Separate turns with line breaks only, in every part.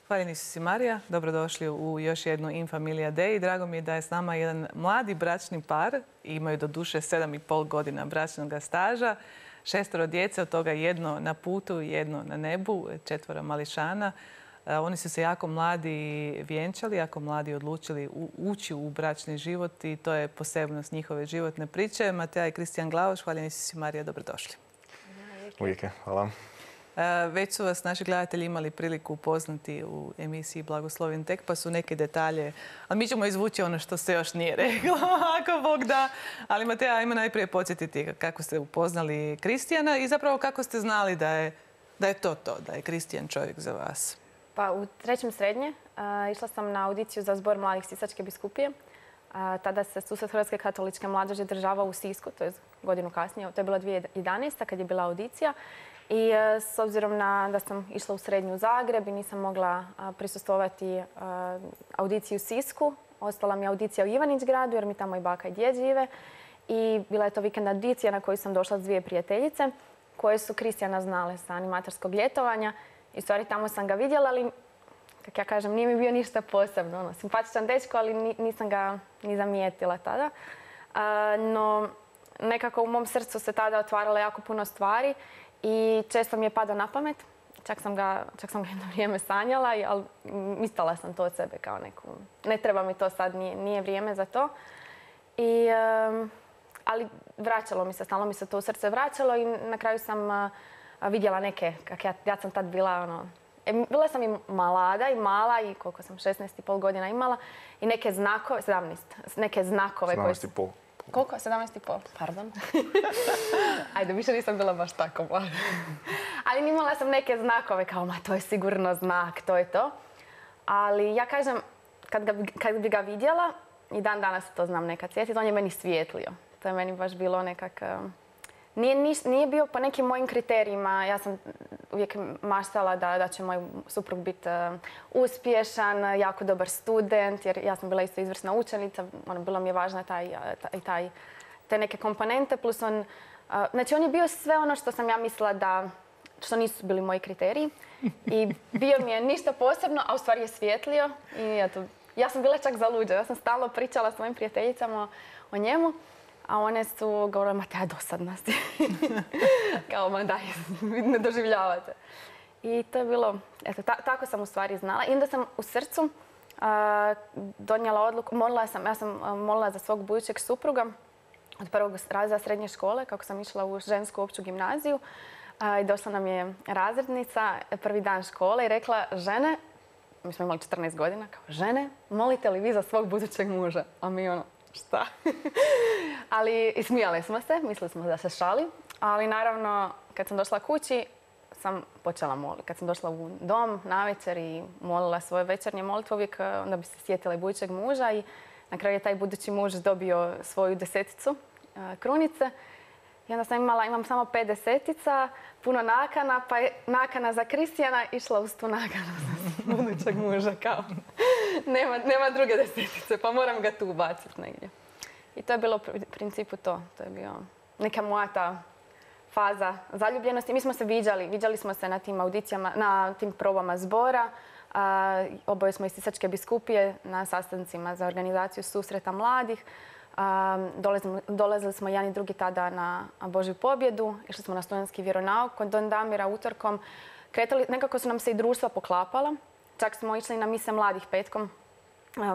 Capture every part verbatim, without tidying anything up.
Hvaljeni si Marija, dobrodošli u još jednu In Familia Day. Drago mi je da je s nama jedan mladi bračni par. Imaju do duše sedam i pol godina bračnog staža. Šestoro djece, od toga jedno na putu, jedno na nebu, četvoro mališana. Oni su se jako mladi vjenčali, jako mladi odlučili ući u bračni život i to je posebnost njihove životne priče. Mateja i Kristijan Glavaš, hvaljeni si Marija, dobrodošli.
Uvijek je, hvala.
Već su vas naši gledatelji imali priliku upoznati u emisiji Blagoslovljen tek, pa su neke detalje. Ali mi ćemo izvući ono što se još nije reklo, ako Bog da. Ali Mateja, ajmo najprije podsjetiti kako ste upoznali Kristijana i zapravo kako ste znali da je, da je to to, da je Kristijan čovjek za vas.
Pa u trećem srednje uh, išla sam na audiciju za Zbor mladih Sisačke biskupije. Uh, tada se Susret Hrvatske katoličke mladeži država u Sisku, to je godinu kasnije, to je bila dvije tisuće jedanaesta kad je bila audicija. I uh, s obzirom na da sam išla u srednju u Zagreb i nisam mogla uh, prisustvovati uh, audiciji u Sisku, ostala mi je audicija u Ivanić gradu jer mi tamo i baka i djed žive. I bila je to vikend audicija na koju sam došla s dvije prijateljice koje su Kristijana znale sa animatorskog ljetovanja. I u stvari tamo sam ga vidjela, ali, kak ja kažem, nije mi bio ništa posebno. Ono, simpatičan dečko, ali nisam ga ni zamijetila tada. A, no, nekako u mom srcu se tada otvaralo jako puno stvari i često mi je padao na pamet. Čak sam ga, čak sam ga jedno vrijeme sanjala, ali mislila sam to od sebe kao neku... Ne treba mi to sad, nije, nije vrijeme za to. I, um, ali vraćalo mi se, stalno mi se to u srce vraćalo i na kraju sam... Uh, vidjela neke, kak ja, ja sam tad bila, ono, e, bila sam i mlada i mala i koliko sam, šesnaest i pol godina imala i neke znakove, sedamnaest, neke znakove koje...
sedamnaest i pol.
Koliko? sedamnaest i pol, pardon. Ajde, više nisam bila baš tako mlada. Ali imala sam neke znakove kao, ma to je sigurno znak, to je to. Ali ja kažem, kad, ga, kad bi ga vidjela, i dan danas to znam nekad sjetiti, on je meni svijetlio. To je meni baš bilo nekak... Nije, nije bio po nekim mojim kriterijima. Ja sam uvijek maštala da, da će moj suprug biti uh, uspješan, jako dobar student, jer ja sam bila isto izvrsna učenica. Ono, bilo mi je važno taj, taj, taj, te neke komponente. Plus on, uh, znači on je bio sve ono što sam ja mislila da, što nisu bili moji kriteriji. I bio mi je ništa posebno, a u stvari je svijetlio. I eto, ja sam bila čak zaluđa. Ja sam stalno pričala s mojim prijateljicama o, o njemu. A one su govorile, ma te dosadna si. Kao, ma daj, ne doživljavate. I to je bilo, eto, ta, tako sam u stvari znala. I onda sam u srcu uh, donijela odluku, molila sam, ja sam uh, molila za svog budućeg supruga od prvog razreda srednje škole, kako sam išla u žensku opću gimnaziju. Uh, I došla nam je razrednica, prvi dan škole i rekla, žene, mi smo imali četrnaest godina, kao, žene, molite li vi za svog budućeg muža? A mi ono, šta? Ali i smijali smo se, mislili smo da se šali. Ali naravno, kad sam došla kući, sam počela moliti. Kad sam došla u dom navečer i molila svoje večernje molitve, uvijek onda bi se sjetila i budućeg muža. I na kraju je taj budući muž dobio svoju deseticu krunice. I onda sam imala, imam samo pet desetica, puno nakana, pa je nakana za Kristijana išla uz tu nakanu za budućeg muža. Kao, nema, nema druge desetice, pa moram ga tu ubaciti negdje. I to je bilo u principu to. To je bio neka moja ta faza zaljubljenosti. Mi smo se viđali, viđali smo se na tim audicijama, na tim probama zbora. A, oboje smo iz Sisačke biskupije na sastancima za organizaciju susreta mladih. A, dolazili, dolazili smo jedan i drugi tada na Božju pobjedu. Išli smo na studentski vjeronauk kod Don Damira utorkom. Kretali, nekako su nam se i društva poklapala. Čak smo išli na mise mladih petkom.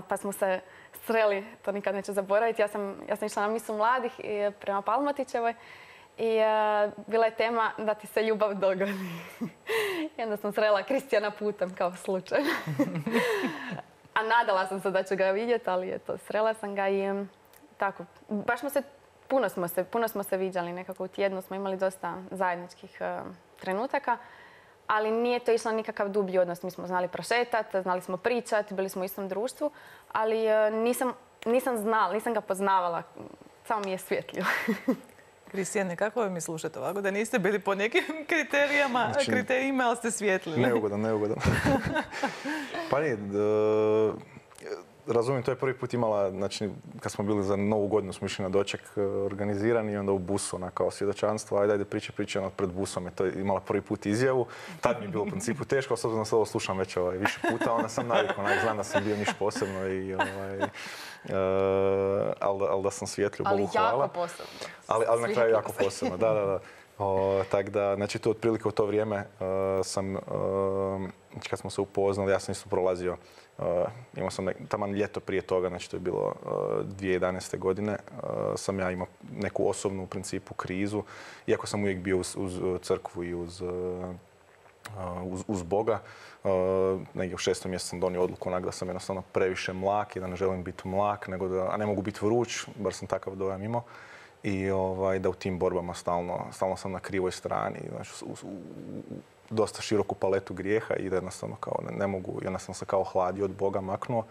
Pa smo se sreli, to nikad neću zaboraviti. Ja sam, ja sam išla na misu mladih prema Palmotićevoj i uh, bila je tema da ti se ljubav dogodi. I onda sam srela Kristijana putem kao slučajno. A nadala sam se da ću ga vidjeti, ali eto, srela sam ga i um, tako. Baš smo se, puno smo se, puno smo se viđali nekako u tjednu, smo imali dosta zajedničkih uh, trenutaka. Ali nije to išlo nikakav dublji odnos. Mi smo znali prošetati, znali smo pričati, bili smo u istom društvu, ali nisam, nisam znala, nisam ga poznavala. Samo mi je svjetlio.
Kristijane, kako vam je slušati ovako? Da niste bili po nekim kriterijama, znači, kriterijima, ali ste svjetlili.
Neugodan, neugodan. Pa nije, razumijem, to je prvi put imala, znači, kad smo bili za Novu godinu, smo išli na doček organizirani i onda u busu, ona kao svjedočanstvo, ajde, ajde, priča, priča, ona pred busom je to imala prvi put izjavu. Tad mi je bilo u principu teško, s obzirom da se ovo slušam već ovaj, više puta, onda sam navikao, onak, znam da sam bio niš posebno i ovaj, uh, ali, ali da sam svjetlju, Bogu hvala.
Ali jako posebno.
Ali, ali na kraju jako posebno, da, da, da. O, tak da, znači tu otprilike u to vrijeme uh, sam, uh, kad smo se upoznali, ja sam isto prolazio, uh, imao sam nek, taman ljeto prije toga, znači to je bilo uh, dvije tisuće jedanaeste. godine, uh, sam ja imao neku osobnu u principu krizu, iako sam uvijek bio uz, uz crkvu i uz, uh, uz, uz Boga. Uh, negdje u šestom mjesecu sam donio odluku onak da sam jednostavno previše mlak i da ne želim biti mlak, nego da, a ne mogu biti vruć, bar sam takav dojam imao. I ovaj, da u tim borbama stalno, stalno sam na krivoj strani, znači u, u, u dosta široku paletu grijeha i da jednostavno kao ne, ne mogu, i onda sam se kao hladio od Boga maknuo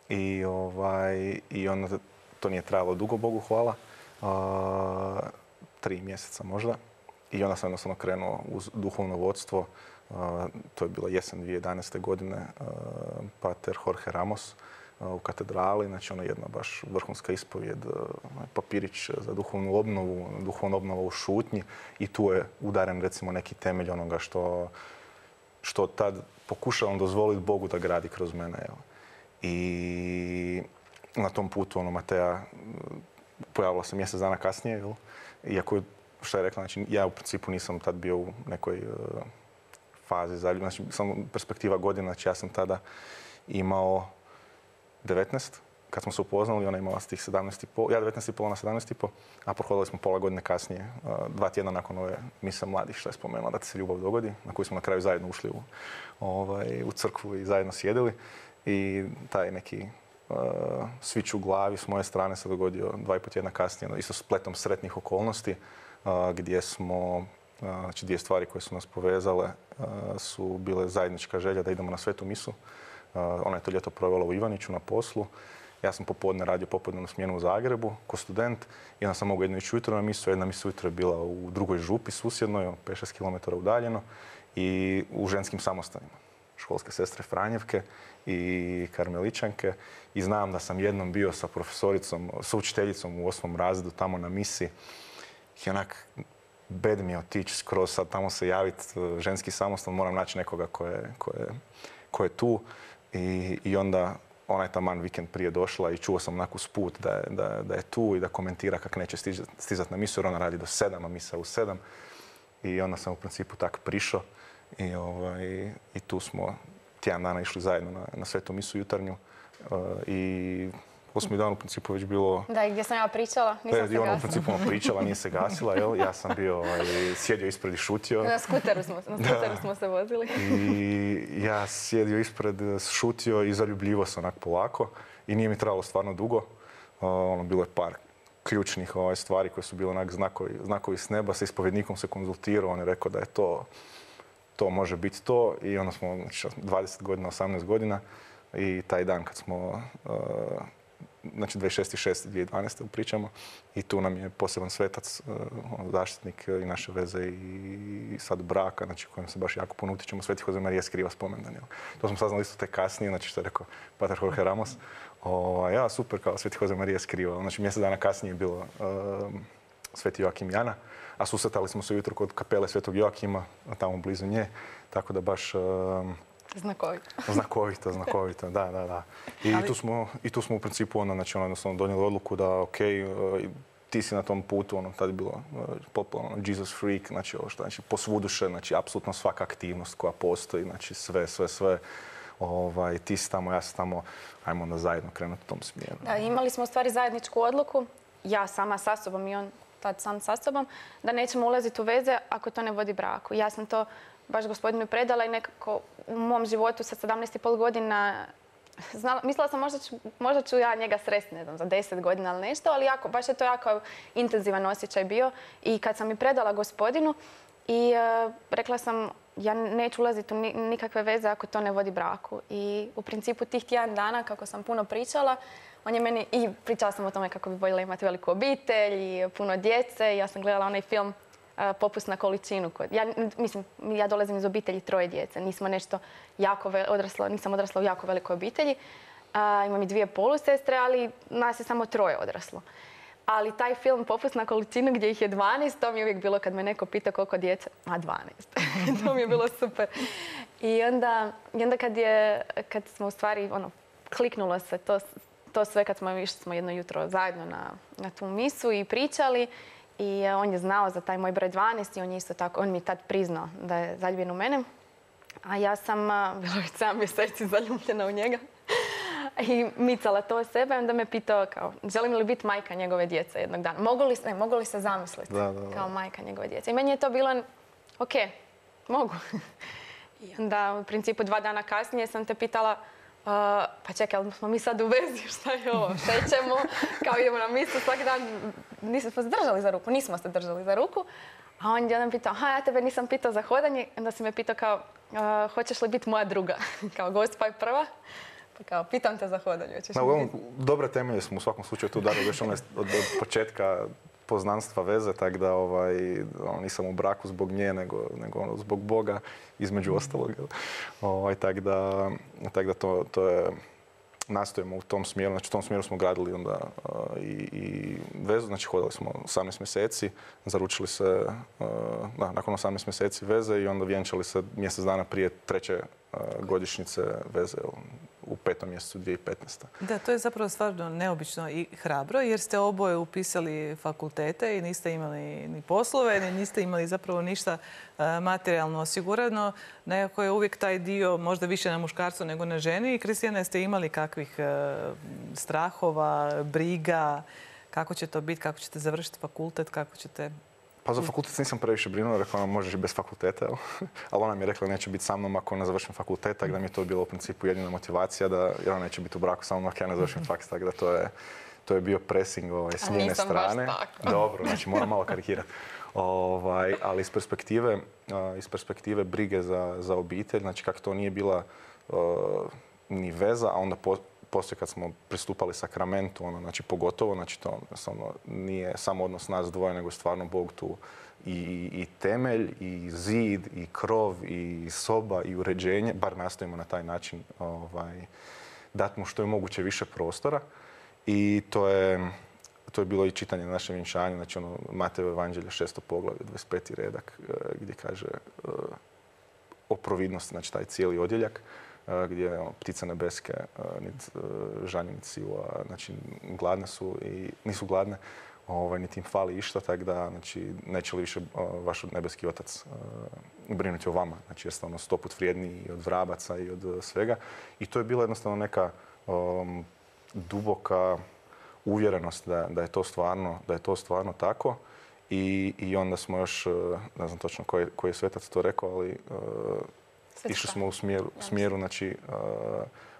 i, ovaj, i onda to nije trajalo dugo, Bogu hvala, a, tri mjeseca možda i onda sam jednostavno krenuo uz duhovno vodstvo, a, to je bila jesen dvije tisuće jedanaeste. godine, a, pater Jorge Ramos u katedrali, znači ona jedna baš vrhunska ispovijed, papirić za duhovnu obnovu, duhovna obnova u šutnji i tu je udaren recimo neki temelj onoga što, što tad pokušavam dozvoliti Bogu da gradi kroz mene. Jel? I na tom putu ono, Mateja pojavila se mjesec dana kasnije, jel? Iako je, što je rekla, znači ja u principu nisam tad bio u nekoj uh, fazi zaljubljenosti, znači samo perspektiva godina, znači ja sam tada imao devetnaest, kad smo se upoznali, ona imala tih sedamnaest i pol, ja devetnaest i pol, ona sedamnaest i pol, a prohodili smo pola godine kasnije, dva tjedna nakon ove mise mladih, što je spomenula da ti se ljubav dogodi, na koju smo na kraju zajedno ušli u, ovaj, u crkvu i zajedno sjedili. I taj neki uh, svić u glavi s moje strane se dogodio dva i pol tjedna kasnije, isto spletom sretnih okolnosti, uh, gdje smo, uh, znači dvije stvari koje su nas povezale uh, su bile zajednička želja da idemo na svetu misu. Uh, ona je to ljeto provela u Ivaniću na poslu. Ja sam popodne radio popodnevnu smjenu u Zagrebu ko student i onda sam mogao jednu ići ujutro na misu. Jedna misa ujutro je bila u drugoj župi susjednoj, pet šest kilometara udaljeno i u ženskim samostanima. Školske sestre Franjevke i Karmeličanke. I znam da sam jednom bio sa profesoricom, sa učiteljicom u osmom razredu tamo na misi. I onak, bed mi je otići skroz sad tamo se javiti, ženski samostan, moram naći nekoga ko je, ko je, ko je tu. I, i onda ona je taman vikend prije došla i čuo sam onak usput da je, da, da je tu i da komentira kako neće stizati na misu jer ona radi do sedam, a misa u sedam. I onda sam u principu tak prišao i, ovaj, i tu smo tjedan dana išli zajedno na, na svetu misu jutarnju. Uh, I osmi dan u principu već bilo...
Da, i gdje sam ja pričala, nisam se
gasila. Ona u
principu
pričala, nije se gasila, jel? Ja sam bio ovaj, sjedio ispred i šutio.
Na skuteru smo, na skuteru smo se vozili.
I ja sjedio ispred, šutio i zaljubljivo se onak polako. I nije mi trebalo stvarno dugo. Uh, ono, bilo je par ključnih ovaj, stvari koje su bile onak znakovi, znakovi s neba. Sa ispovjednikom se konzultirao, on je rekao da je to, to može biti to. I onda smo znači, dvadeset godina, osamnaest godina. I taj dan kad smo... Uh, znači dvadeset šesti šesti dvije tisuće dvanaeste pričamo i tu nam je poseban svetac, uh, zaštitnik i naše veze i sad braka, znači kojem se baš jako puno utičemo, Sveti Jose Marija Skriva spomendan. To smo saznali isto tek kasnije, znači što je rekao pater Jorge Ramos. O, ja, super, kao Sveti Jose Marija Skriva. Znači mjesec dana kasnije je bilo uh, Sveti Joakim Jana, a susretali smo se ujutro kod kapele Svetog Joakima, tamo blizu nje, tako da baš... Uh,
Znakovito.
Znakovito, znakovito, da, da, da. I, Ali... tu, smo, i tu smo u principu ono, znači, ono, jednostavno donijeli odluku da, ok, uh, ti si na tom putu, ono, tad je bilo uh, popularno, Jesus freak, znači, ovo što, znači, posvuduše, znači, apsolutno svaka aktivnost koja postoji, znači, sve, sve, sve. Ovaj, ti si tamo, ja sam tamo, ajmo onda zajedno krenuti u tom smjeru.
Da, imali smo u stvari zajedničku odluku, ja sama sa sobom i on tad sam sa sobom, da nećemo ulaziti u veze ako to ne vodi braku. Ja sam to baš gospodinu predala i nekako u mom životu sa sedamnaest i pol godina znala, mislila sam možda ću, možda ću ja njega sresti, ne znam, za deset godina ili nešto, ali jako, baš je to jako intenzivan osjećaj bio. I kad sam mi predala gospodinu i uh, rekla sam ja neću ulaziti u nikakve veze ako to ne vodi braku. I u principu tih tjedan dana kako sam puno pričala, on je meni, i pričala sam o tome kako bi voljela imati veliku obitelj i puno djece. Ja sam gledala onaj film Popust na količinu. Ja, mislim, ja dolazim iz obitelji troje djece. Nismo nešto jako odraslo, nisam odrasla u jako velikoj obitelji. A, imam i dvije polusestre, ali nas je samo troje odraslo. Ali taj film Popust na količinu gdje ih je dvanaest, to mi je uvijek bilo kad me neko pita koliko djece, a dvanaest. To mi je bilo super. I onda, i onda kad, je, kad smo u stvari, ono, kliknulo se to, to sve kad smo išli smo jedno jutro zajedno na, na tu misu i pričali. I on je znao za taj moj broj dvanaest i on je isto tako, on mi je tad priznao da je zaljubljen u mene. A ja sam bila već sedam mjeseci zaljubljena u njega. I micala to sebe, onda me pitao kao, želim li biti majka njegove djece jednog dana? Mogu li, ne, mogu li se zamisliti
da, da, da.
kao majka njegove djece? I meni je to bilo, ok, mogu. I onda u principu dva dana kasnije sam te pitala, uh, pa čekaj, ali smo mi sad u vezi, šta je ovo, šećemo, kao idemo na misu svaki dan. Nismo se držali za ruku, nismo se držali za ruku. A on je jedan pitao, aha, ja tebe nisam pitao za hodanje, onda si me pitao kao, uh, hoćeš li biti moja druga? Kao gost pa je prva. Pa kao, pitam te za hodanje.
Na, uglavnom, dobre temelje smo u svakom slučaju tu dali još ono od, od početka poznanstva veze, tako da ovaj, nisam u braku zbog nje, nego, nego ono, zbog Boga, između ostalog. Ovaj, tako da, tak da to, to je, nastojimo u tom smjeru, znači u tom smjeru smo gradili onda uh, i, i vezu, znači hodali smo osamnaest mjeseci, zaručili se uh, da, nakon osamnaest mjeseci veze i onda vjenčali se mjesec dana prije treće uh, godišnjice veze u petom mjesecu dvije tisuće petnaeste.
Da, to je zapravo stvarno neobično i hrabro jer ste oboje upisali fakultete i niste imali ni poslove, ni niste imali zapravo ništa materijalno osigurano. Nekako je uvijek taj dio možda više na muškarcu nego na ženi. I Kristijana, jeste imali kakvih strahova, briga, kako će to biti, kako ćete završiti fakultet, kako ćete...
Pa za fakultet nisam previše brinuo, rekla nam možeš i bez fakulteta, ali ona mi je rekla neće biti sa mnom ako ne završim fakultet, tako da mi je to bilo u principu jedina motivacija da jer ona neće biti u braku sa mnom ako ja ne završim faks, tako da to je, to je bio pressing ovaj, s njene strane.
Baš tako.
Dobro, znači moram malo karikirati. Ovaj, ali iz perspektive, iz perspektive brige za, za obitelj, znači kako to nije bila uh, ni veza, a onda po, poslije kad smo pristupali sakramentu, ono, znači pogotovo, znači to ono, nije samo odnos nas dvoje, nego stvarno Bog tu i, i temelj, i zid, i krov, i soba, i uređenje, bar nastojimo na taj način ovaj, dati mu što je moguće više prostora. I to je, to je bilo i čitanje na našem vjenčanju, znači ono, Matejevo evanđelje, šesto poglavlje, dvadeset peti redak, gdje kaže uh, o providnosti, znači taj cijeli odjeljak, gdje ono, ptice nebeske, niti žanje, niti sila, znači gladne su i nisu gladne, ovaj, niti im fali išta, tako da znači, neće li više vaš nebeski otac uh, brinuti o vama. Znači jeste ono sto put vrijedniji i od vrabaca i od svega. I to je bila jednostavno neka um, duboka uvjerenost da, da je to stvarno, da je to stvarno tako. I, i onda smo još, ne znam točno koji, koji je svetac to rekao, ali uh, išli smo u smjeru, smjeru znači, uh,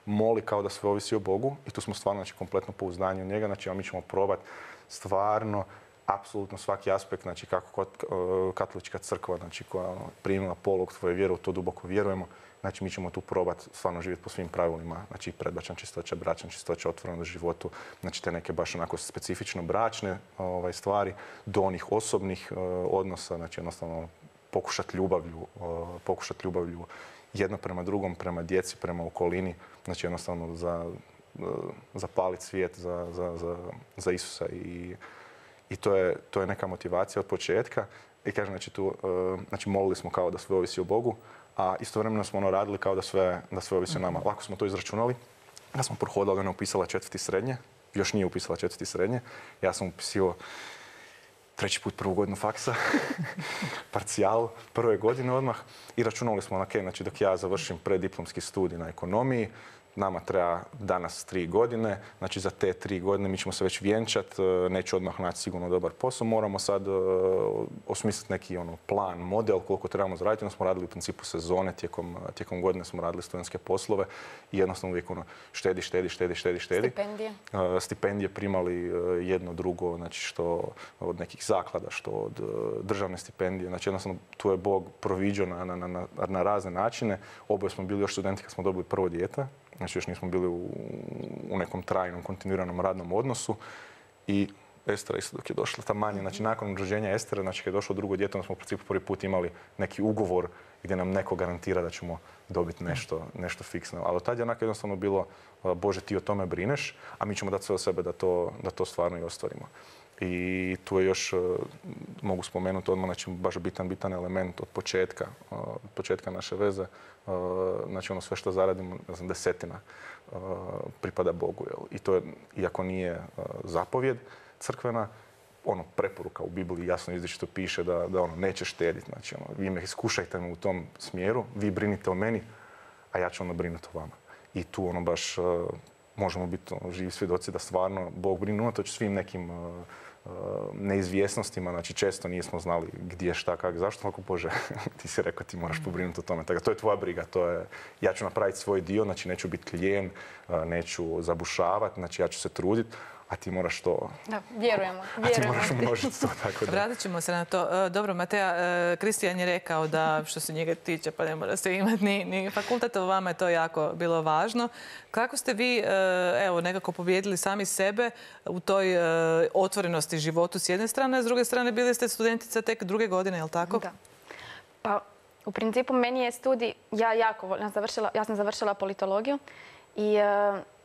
moli kao da sve ovisi o Bogu i tu smo stvarno znači, kompletno pouzdanje u njega. Znači, a mi ćemo probati stvarno, apsolutno svaki aspekt, znači kako uh, katolička crkva, znači koja ono, primila polog tvoje vjere, u to duboko vjerujemo. Znači, mi ćemo tu probati stvarno živjeti po svim pravilima, znači predbračna čistoća, bračna čistoća, otvoreno životu, znači te neke baš onako specifično bračne ovaj, stvari, do onih osobnih uh, odnosa, znači jednostavno pokušati ljubavlju, uh, pokušati ljubavlju jedno prema drugom, prema djeci, prema okolini, znači jednostavno za, uh, zapaliti svijet za, za, za, za Isusa i, i to, je, to je neka motivacija od početka. I kažem, znači tu, uh, znači molili smo kao da sve ovisi o Bogu, a istovremeno smo ono radili kao da sve, da sve ovisi o nama. Lako smo to izračunali. Ja sam prohodala, ona upisala četvrti srednje, još nije upisala četvrti srednje. Ja sam upisio treći put prvu godinu faksa, parcijal prve godine odmah i računali smo, ok, znači dok ja završim preddiplomski studij na ekonomiji, nama treba danas tri godine, znači za te tri godine mi ćemo se već vjenčati, neću odmah naći sigurno dobar posao, moramo sad uh, osmisliti neki ono, plan, model koliko trebamo zaraditi. Onda smo radili u principu sezone, tijekom, tijekom godine smo radili studentske poslove i jednostavno uvijek ono, štedi, štedi, štedi, štedi, štedi.
Stipendije?
Uh, stipendije primali uh, jedno, drugo, znači što od nekih zaklada, što od uh, državne stipendije. Znači jednostavno tu je Bog proviđao na, na, na, na razne načine. Oboje smo bili još studenti kad smo dobili prvo dijete. Znači još nismo bili u, u nekom trajnom, kontinuiranom radnom odnosu i Estera isto dok je došla, ta manja. Znači, nakon rođenja Estere, znači, kad je došlo drugo dijete, onda smo u principu prvi put imali neki ugovor gdje nam neko garantira da ćemo dobiti nešto, nešto fiksno. Ali od tad je onako jednostavno bilo, Bože, ti o tome brineš, a mi ćemo dati sve od sebe da to, da to stvarno i ostvarimo. I tu je još, mogu spomenuti odmah, znači baš bitan, bitan element od početka, od početka naše veze. Znači ono sve što zaradimo, ne znam, desetina pripada Bogu. Jel? I to je, iako nije zapovjed crkvena, ono, preporuka u Bibliji jasno izričito piše da, da ono, neće štediti. Znači, ono, vi me iskušajte me u tom smjeru, vi brinite o meni, a ja ću onda brinuti o vama. I tu ono baš uh, možemo biti ono, živi svjedoci da stvarno Bog brine unatoč svim nekim uh, uh, neizvjesnostima. Znači, često nismo znali gdje, šta, kak, zašto. Ako Bože, ti si rekao ti moraš pobrinuti o tome. Tako, to je tvoja briga. To je, ja ću napraviti svoj dio, znači neću biti klijen, uh, neću zabušavati, znači ja ću se truditi. A ti moraš to...
Da, vjerujemo.
A ti moraš umnožiti to, tako da.
Vratit ćemo se na to. Dobro, Mateja, Kristijan je rekao da što se njega tiče pa ne mora se imati ni, ni fakultet, a vama je to jako bilo važno. Kako ste vi, evo, nekako pobijedili sami sebe u toj otvorenosti životu s jedne strane, a s druge strane bili ste studentica tek druge godine, je li tako?
Da. Pa, u principu, meni je studij, ja jako volim, završila, ja sam završila politologiju i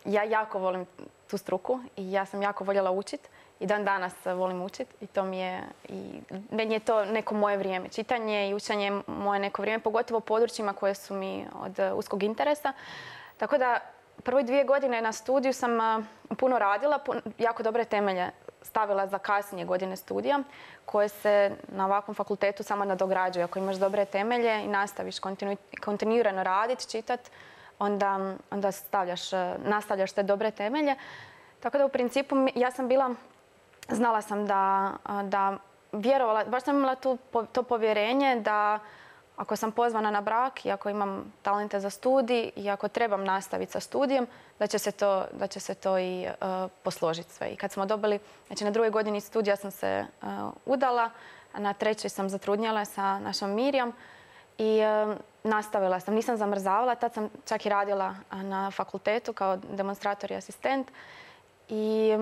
ja jako volim tu struku i ja sam jako voljela učiti i dan danas volim učiti i to mi je, i meni je to neko moje vrijeme. Čitanje i učenje je moje neko vrijeme, pogotovo u područjima koje su mi od uskog interesa. Tako da prve dvije godine na studiju sam puno radila, jako dobre temelje stavila za kasnije godine studija koje se na ovakvom fakultetu samo nadograđuju. Ako imaš dobre temelje i nastaviš kontinu, kontinuirano raditi, čitati, onda, onda stavljaš, nastavljaš te dobre temelje. Tako da u principu ja sam bila, znala sam da, da vjerovala, baš sam imala tu, to povjerenje da ako sam pozvana na brak i ako imam talente za studij i ako trebam nastaviti sa studijem, da će se to, da će se to i uh, posložiti sve. I kad smo dobili, znači na drugoj godini studija sam se uh, udala, a na trećoj sam zatrudnjala sa našom Mirjam i uh, nastavila sam. Nisam zamrzavala, tad sam čak i radila na fakultetu kao demonstrator i asistent. I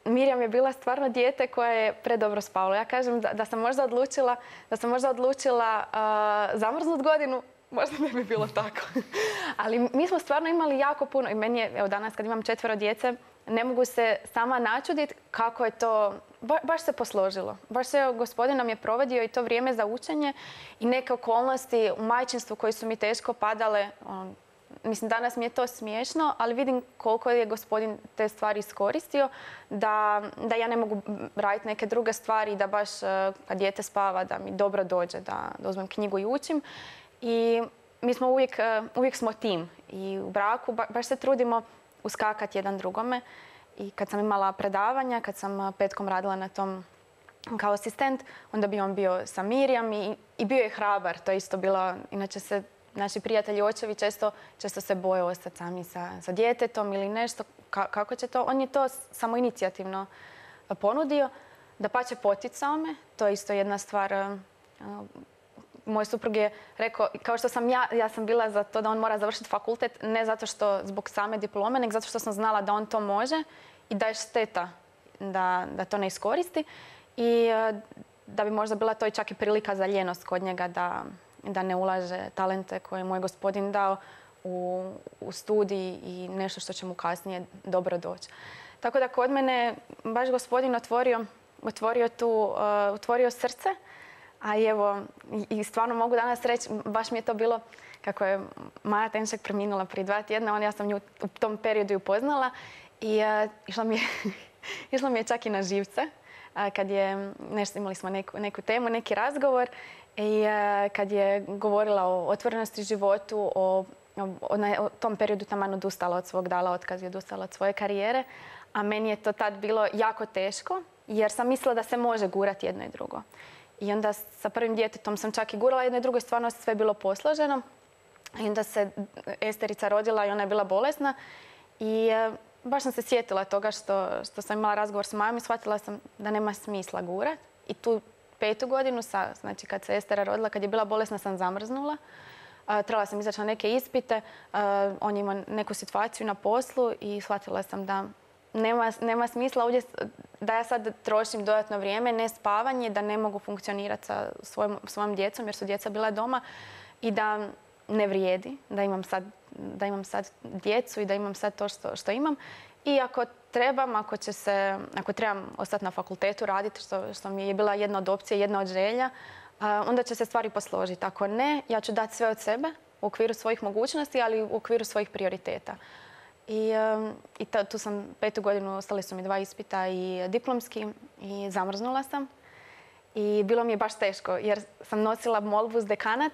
Mirjam je bila stvarno dijete koje je predobro spavalo. Ja kažem da, da sam možda odlučila, da sam možda odlučila uh, zamrznut godinu, možda ne bi bilo tako. Ali mi smo stvarno imali jako puno i meni je, evo danas kad imam četvero djece, ne mogu se sama načuditi kako je to, ba, baš se posložilo. Baš se Gospodin nam je provodio i to vrijeme za učenje i neke okolnosti u majčinstvu koje su mi teško padale. On, Mislim, danas mi je to smiješno, ali vidim koliko je Gospodin te stvari iskoristio, da, da ja ne mogu raditi neke druge stvari, da baš kad dijete spava, da mi dobro dođe, da, da uzmem knjigu i učim. I mi smo uvijek, uvijek smo tim i u braku ba, baš se trudimo uskakati jedan drugome. I kad sam imala predavanja, kad sam petkom radila na tom kao asistent, onda bi on bio sa Mirjam i, i bio je hrabar. To je isto bilo, inače se naši prijatelji očevi često, često se boje ostati sami sa, sa djetetom ili nešto. Ka, kako će to? On je to samo inicijativno ponudio. Dapače, poticao me. To je isto jedna stvar. Moj suprug je rekao, kao što sam ja, ja sam bila za to da on mora završiti fakultet, ne zato što zbog same diplome, nego zato što sam znala da on to može i da je šteta da, da to ne iskoristi. I da bi možda bila to i čak i prilika za ljenost kod njega da da ne ulaže talente koje je moj Gospodin dao u, u studij i nešto što će mu kasnije dobro doći. Tako da kod mene baš Gospodin otvorio, otvorio, tu, uh, otvorio srce, a evo i, i stvarno mogu danas reći, baš mi je to bilo kako je Maja Tenšek preminula prije dva tjedna, on, ja sam nju u tom periodu upoznala i uh, išla, mi je, išla mi je čak i na živce. Uh, kad je, nešto, imali smo neku, neku temu, neki razgovor. I kad je govorila o otvorenosti životu, o, o, o tom periodu taman odustala od svog, dala otkaz i odustala od svoje karijere. A meni je to tad bilo jako teško jer sam mislila da se može gurati jedno i drugo. I onda sa prvim djetetom sam čak i gurala jedno i drugo i stvarno sve bilo posloženo. I onda se Esterica rodila i ona je bila bolesna. I baš sam se sjetila toga što, što sam imala razgovor s Majom i shvatila sam da nema smisla gurati. I tu petu godinu, sa, znači kad se Estera rodila, kad je bila bolesna, sam zamrznula. Uh, trebala sam izaći na neke ispite. Uh, on je imao neku situaciju na poslu i shvatila sam da nema, nema smisla ovdje da ja sad trošim dodatno vrijeme, ne spavanje, da ne mogu funkcionirati sa svojom, svojom djecom jer su djeca bila doma i da ne vrijedi, da imam sad, da imam sad djecu i da imam sad to što, što imam. I ako trebam, ako, će se, ako trebam ostati na fakultetu raditi, što, što mi je bila jedna od opcija, jedna od želja, onda će se stvari posložiti. Ako ne, ja ću dati sve od sebe u okviru svojih mogućnosti, ali u okviru svojih prioriteta. I, i ta, tu sam petu godinu, ostali su mi dva ispita i diplomski i zamrznula sam. I bilo mi je baš teško jer sam nosila molbu uz dekanat,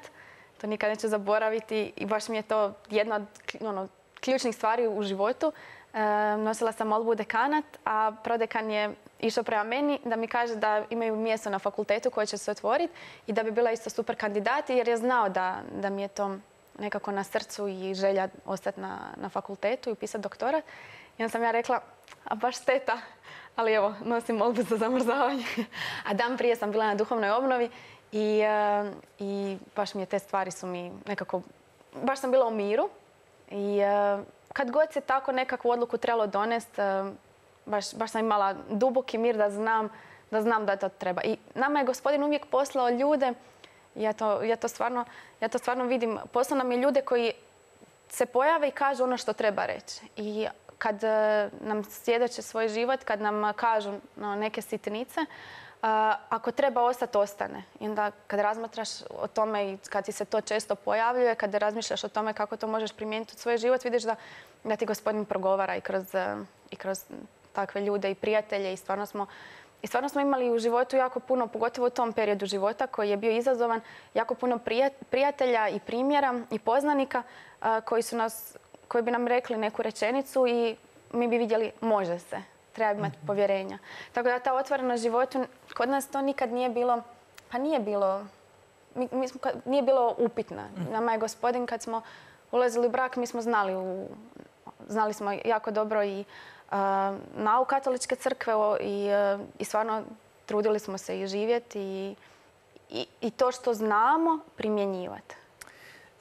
to nikad neću zaboraviti i baš mi je to jedna od ono, ključnih stvari u životu. E, nosila sam molbu u dekanat, a prodekan je išao prema meni da mi kaže da imaju mjesto na fakultetu koje će se otvoriti i da bi bila isto super kandidat jer je znao da, da mi je to nekako na srcu i želja ostati na, na fakultetu i upisati doktorat. I onda sam ja rekla, a baš šteta, ali evo, nosim molbu za zamrzavanje. A dan prije sam bila na duhovnoj obnovi i, uh, i baš mi je te stvari su mi nekako, baš sam bila u miru. I uh, kad god se tako nekakvu odluku trebalo donesti, uh, baš, baš sam imala duboki mir da znam, da znam da to treba. I nama je Gospodin uvijek poslao ljude. Ja to, ja, to stvarno, ja to stvarno vidim. Poslao nam je ljude koji se pojave i kažu ono što treba reći. I kad uh, nam svjedoče svoj život, kad nam kažu no, neke sitnice, uh, ako treba ostati, ostane. I onda kad razmatraš o tome i kad ti se to često pojavljuje, kad razmišljaš o tome kako to možeš primijeniti u svoj život, vidiš da, da ti Gospodin progovara i kroz, uh, i kroz takve ljude i prijatelje. I stvarno smo I stvarno smo imali u životu jako puno, pogotovo u tom periodu života koji je bio izazovan, jako puno prijatelja i primjera i poznanika koji, su nas, koji bi nam rekli neku rečenicu i mi bi vidjeli može se, treba imati povjerenja. Tako da ta otvorenost životu, kod nas to nikad nije bilo, pa nije bilo, mi, mi smo, nije bilo upitna. Nama je Gospodin kad smo ulazili u brak, mi smo znali, u, znali smo jako dobro i nauk katoličke crkve i, i stvarno trudili smo se i živjeti i, i, i to što znamo primjenjivati.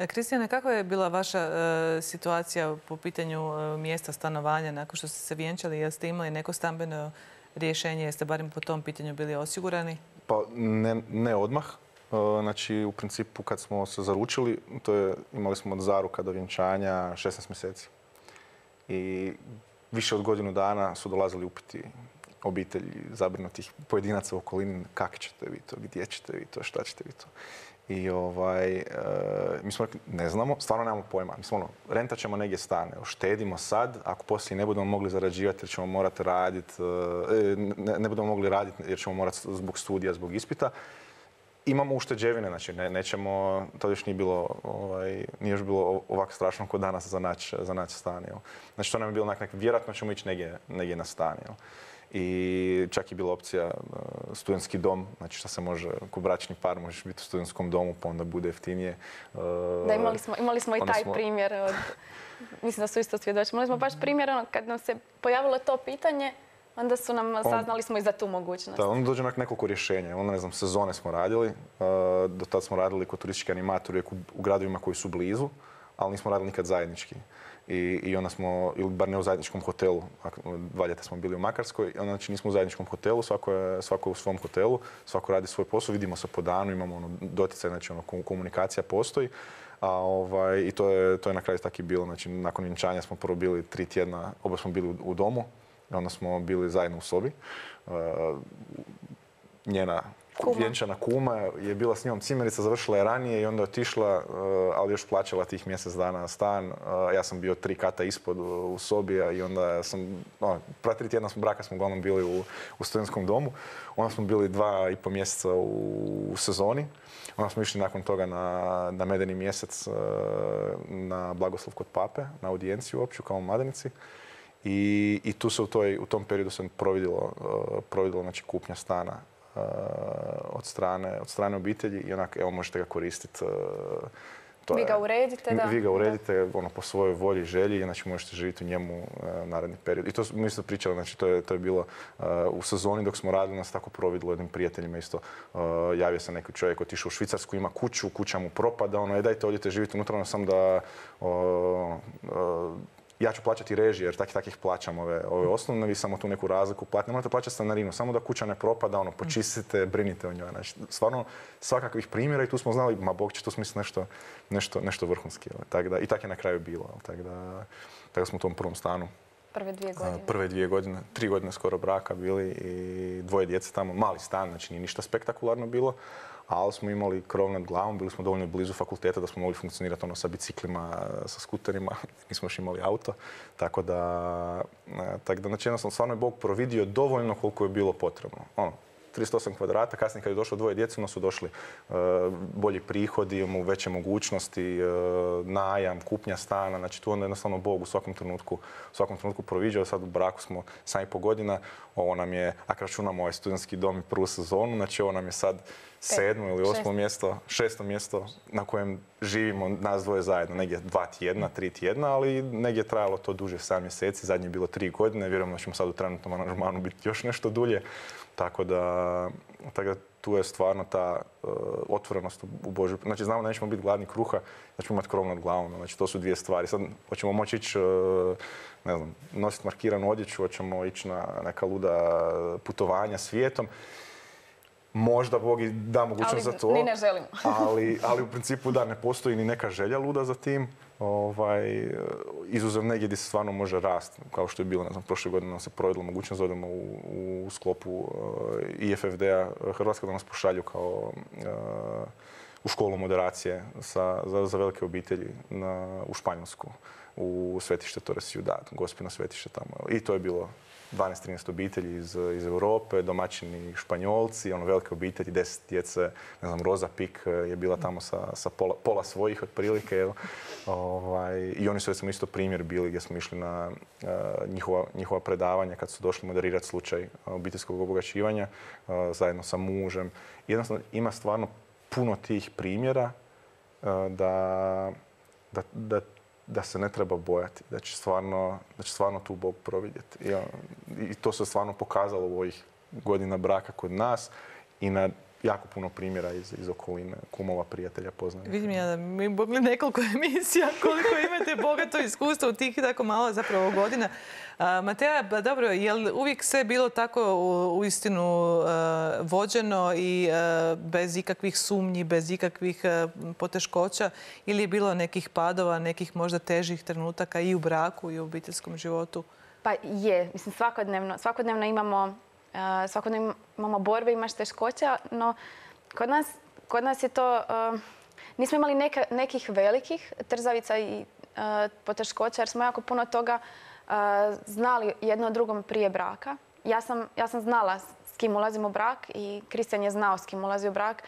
Kristijane, kakva je bila vaša e, situacija po pitanju e, mjesta stanovanja nakon što ste se vjenčali? Jeste imali neko stambeno rješenje? Jeste barem po tom pitanju bili osigurani?
Pa ne, ne odmah. E, znači, u principu kad smo se zaručili, to je, imali smo od zaruka do vjenčanja šesnaest mjeseci. I više od godinu dana su dolazili upiti obitelji, zabrinutih pojedinaca u okolini, kako ćete vi to, gdje ćete vi to, šta ćete vi to. I ovaj, e, mi smo rekli, ne znamo, stvarno nemamo pojma. Mi smo ono, rentat ćemo negdje stan, štedimo sad, ako poslije ne budemo mogli zarađivati jer ćemo morati raditi, e, ne, ne budemo mogli raditi jer ćemo morati zbog studija, zbog ispita, imamo ušteđevine, znači ne, nećemo, to još nije bilo, ovaj, nije još bilo ovako strašno kod danas za naći za naći stan. Jel? Znači to nam je bilo onak, vjerojatno ćemo ići negdje, negdje na stan. Jel? I čak je bila opcija uh, studentski dom, znači što se može, ko bračni par možeš biti u studentskom domu pa onda bude jeftinije. Uh,
da, imali smo, imali smo i taj
smo...
primjer, od, mislim da su isto svjedoči. Imali smo baš primjer ono, kad nam se pojavilo to pitanje, onda su nam, on, saznali smo i za tu mogućnost.
Da, onda dođe nekoliko rješenja. Onda, ne znam, sezone smo radili. Uh, do tada smo radili kod turistički animatori u, u gradovima koji su blizu, ali nismo radili nikad zajednički. I, i onda smo, ili bar ne u zajedničkom hotelu, dva ljeta smo bili u Makarskoj, onda znači nismo u zajedničkom hotelu, svako je, svako je u svom hotelu, svako radi svoj posao, vidimo se po danu, imamo ono, doticaj, znači ono, komunikacija postoji. A, ovaj, I to je, to je na kraju tako i bilo. Znači, nakon vjenčanja smo prvo bili tri tjedna, oba smo bili u, u domu. I onda smo bili zajedno u sobi. Uh, njena kuma. Vjenčana kuma je bila s njom cimerica, završila je ranije i onda je otišla, uh, ali još plaćala tih mjesec dana stan. Uh, ja sam bio tri kata ispod u, u sobi i onda sam, no, prva tri tjedna smo braka smo uglavnom bili u, u studentskom domu. Onda smo bili dva i po mjeseca u, u sezoni. Onda smo išli nakon toga na, na medeni mjesec uh, na blagoslov kod pape, na audijenciju opću kao mladenici. I, i tu se u, toj, u tom periodu se providilo, uh, providilo znači, kupnja stana uh, od, strane, od strane obitelji i onak, evo, možete ga koristiti. Uh, to
vi ga uredite, da?
Vi ga uredite ono, po svojoj volji i želji, znači možete živjeti u njemu uh, naredni period. I to mi isto pričali, znači to je, to je bilo uh, u sezoni dok smo radili, nas tako providilo jednim prijateljima isto. Uh, javio se neki čovjek, otišao u Švicarsku, ima kuću, kuća mu propada, ono, e, dajte, odite živjeti unutra, ono, sam da uh, uh, ja ću plaćati režije jer takih takih plaćam ove, ove osnovne, vi samo tu neku razliku platite. Ne morate plaćati stanarinu, samo da kuća ne propada, ono, počistite, brinite o njoj. Znači, stvarno, svakakvih primjera i tu smo znali, ma Bog će tu smisli nešto, nešto, nešto vrhunski. Tak da, i tako je na kraju bilo. Tako da, tako smo u tom prvom stanu.
Prve dvije godine.
Prve dvije godine, tri godine skoro braka bili i dvoje djece tamo, mali stan, znači nije ništa spektakularno bilo, ali smo imali krov nad glavom, bili smo dovoljno blizu fakulteta da smo mogli funkcionirati ono sa biciklima, sa skuterima, nismo još imali auto, tako da, tako da znači jednostavno stvarno je Bog providio dovoljno koliko je bilo potrebno. Ono, trideset osam kvadrata, kasnije kad je došlo dvoje djece, onda su došli uh, bolji prihodi, imamo veće mogućnosti, uh, najam, kupnja stana, znači tu onda jednostavno Bog u svakom trenutku, u svakom trenutku proviđao. Sad u braku smo sedam i pol godina, ovo nam je, ako računamo ovaj studentski dom i prvu sezonu, znači ovo nam je sad sedmo ili osmo mjesto, šesto mjesto na kojem živimo nas dvoje zajedno, negdje dva tjedna, tri tjedna, ali negdje je trajalo to duže, sedam mjeseci, zadnje je bilo tri godine, vjerujemo da ćemo sad u trenutnom aranžmanu biti još nešto dulje. Tako da, tako da tu je stvarno ta uh, otvorenost u Božju. Znači znamo da nećemo biti gladni kruha, da ćemo imati krov nad glavom. Znači to su dvije stvari. Sad hoćemo moći ići, uh, ne znam, nositi markiranu odjeću, hoćemo ići na neka luda putovanja svijetom. Možda Bog i da mogućnost za to.
Ali ni ne želimo.
ali, ali u principu da, ne postoji ni neka želja luda za tim. Ovaj, izuzev negdje gdje se stvarno može rast, kao što je bilo, ne znam, prošle godine nam se provedilo mogućnost da odemo u, u sklopu uh, I F F D-a Hrvatska da nas pošalju kao uh, u školu moderacije sa, za, za velike obitelji na, u Španjolsku, u svetište Torres Ciudad, Gospino svetište tamo. I to je bilo dvanaest trinaest obitelji iz, iz Europe, domaćini Španjolci, ono velike obitelji, deset djece, ne znam, Roza Pik je bila tamo sa, sa pola, pola svojih otprilike. Jel? Ovaj, I oni su recimo isto primjer bili gdje smo išli na uh, njihova, njihova predavanja kad su došli moderirati slučaj obiteljskog obogaćivanja uh, zajedno sa mužem. Jednostavno ima stvarno puno tih primjera uh, da, da, da da se ne treba bojati, da će stvarno, da će stvarno tu Bog providjeti. I, I to se stvarno pokazalo u ovih godina braka kod nas i na jako puno primjera iz, iz okoline, kumova, prijatelja, poznanih.
Vidim ja da mi mogli nekoliko emisija koliko imate bogato iskustvo u tih tako malo zapravo godina. A, Mateja, ba, dobro, je li uvijek sve bilo tako u, u istinu uh, vođeno i uh, bez ikakvih sumnji, bez ikakvih uh, poteškoća ili je bilo nekih padova, nekih možda težih trenutaka i u braku i u obiteljskom životu?
Pa je, mislim svakodnevno, svakodnevno imamo Uh, svakodnevno imamo borbe, imaš teškoća, no kod nas, kod nas je to, uh, nismo imali neka, nekih velikih trzavica i uh, poteškoća jer smo jako puno toga uh, znali jedno od drugom prije braka. Ja sam, ja sam znala s kim ulazim u brak i Kristijan je znao s kim ulazi u brak.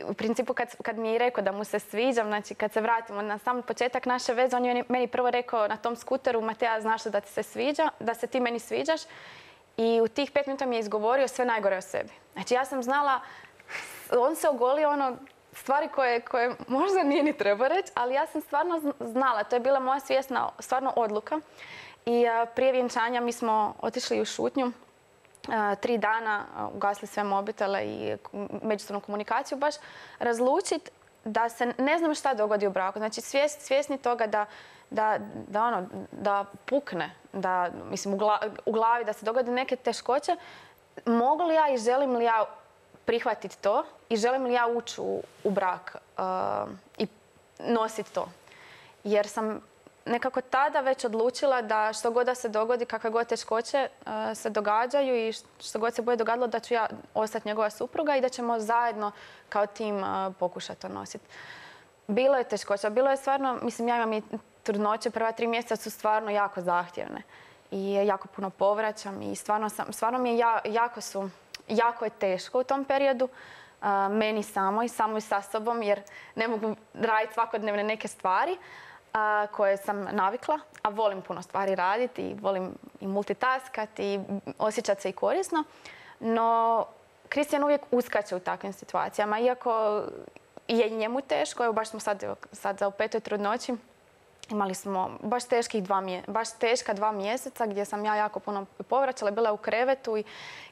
U principu kad, kad mi je rekao da mu se sviđam, znači kad se vratimo na sam početak naše veze, on je meni prvo rekao na tom skuteru, Mateja, znaš da ti se sviđa, da se ti meni sviđaš. I u tih pet minuta mi je izgovorio sve najgore o sebi. Znači ja sam znala, on se ogolio ono stvari koje, koje možda nije ni treba reći, ali ja sam stvarno znala. To je bila moja svjesna stvarno odluka. I a, prije vjenčanja mi smo otišli u šutnju. A, tri dana a, ugasili sve mobitele i međusobnu komunikaciju baš razlučiti da se ne znam šta dogodi u braku. Znači svjes, svjesni toga da Da, da, ono, da pukne, da, mislim, u, gla, u glavi, da se dogode neke teškoće, mogu li ja i želim li ja prihvatiti to i želim li ja ući u, u brak uh, i nositi to. Jer sam nekako tada već odlučila da što god da se dogodi, kakve god teškoće uh, se događaju i što god se bude dogadilo da ću ja ostati njegova supruga i da ćemo zajedno kao tim uh, pokušati to nositi. Bilo je teškoća, bilo je stvarno, mislim, ja imam i trudnoće, prva tri mjeseca su stvarno jako zahtjevne i jako puno povraćam i stvarno, sam, stvarno mi je ja, jako, su, jako je teško u tom periodu, uh, meni samoj, samoj sa sobom jer ne mogu raditi svakodnevne neke stvari uh, koje sam navikla, a volim puno stvari raditi i volim i multitaskati i osjećati se i korisno, no Kristijan uvijek uskače u takvim situacijama, iako je njemu teško, evo baš smo sad, sad za u petoj trudnoći, imali smo baš, teških dva mje, baš teška dva mjeseca gdje sam ja jako puno povraćala, bila u krevetu i